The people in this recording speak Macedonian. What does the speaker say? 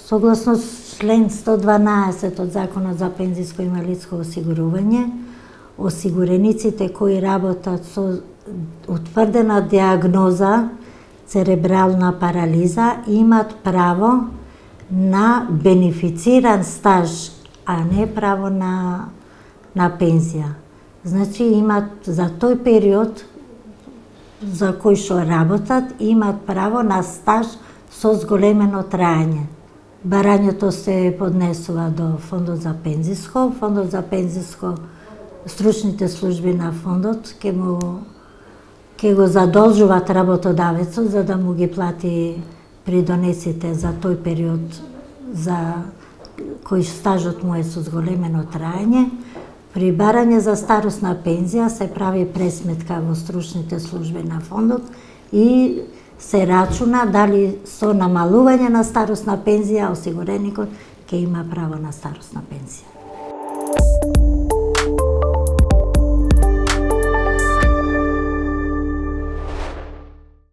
Согласно член 112 од Законот за пензиско и инвалидско осигурување, осигурениците кои работат со утврдена диагноза церебрална парализа имат право на бенефициран стаж, а не право на пензија. Значи имат за тој период за кој што работат, имат право на стаж со зголемено траење. Барањето се поднесува до Фондот за пензиско. Фондот за пензиско, стручните служби на фондот ќе го задолжуваат работодавецот за да му ги плати придонесите за тој период за кој стажот му е со зголемено траење. При барање за старосна пензија се прави пресметка во стручните служби на фондот и се рачуна дали со намалување на старосна пензија осигуреникот ќе има право на старосна пензија.